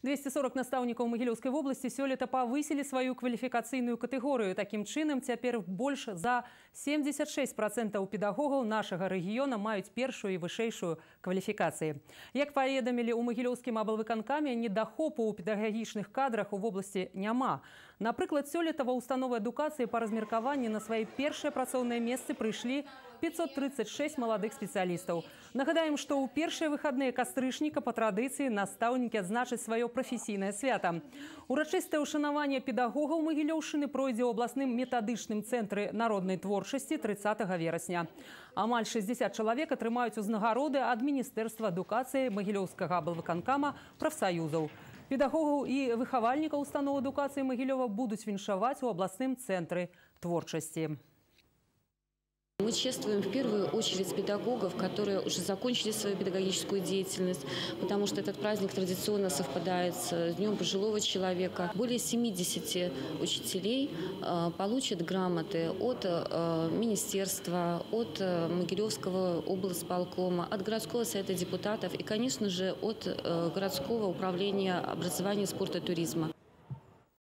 240 настаўнікаў Магілёўскай вобласці сёлета павысілі сваю кваліфікацыйную катэгорыю. Такім чынам, цяпер больш за 76% педагогаў нашага рэгіёна маюць першую і вышэйшую кваліфікацыі. Як паведамілі ў Магілёўскім аблвыканкаме, недахопу ў педагагічных кадрах у вобласці няма. Напрыклад, сёлета ва ўстановы адукацыі па размеркаванні на свае першыя працоўныя месцы прыйшлі 536 маладых спецыялістаў. Нагадаем, што ў першыя выхадныя кастрычніка па традыцыі настаўнікі адзначаць сваё прафесійнае свята. Урачыстае ўшанаванне педагогаў Магілёўшчыны пройдзе ў абласным метадычным цэнтры народнай творчасці 30 верасня. Амаль 60 чалавек атрымаюць узнагароды ад Міністэрства адукацыі Магілёўскага аблвыканкама прафсаюзаў. Педагогаў і выхавальнікаў устаноў адукацыі Магілёва будуць віншаваць у абласным цэнтры творчасці. Мы чествуем в первую очередь педагогов, которые уже закончили свою педагогическую деятельность, потому что этот праздник традиционно совпадает с Днем пожилого человека. Более 70 учителей получат грамоты от министерства, от Могилевского облсполкома, от городского совета депутатов и, конечно же, от городского управления образования, спорта и туризма.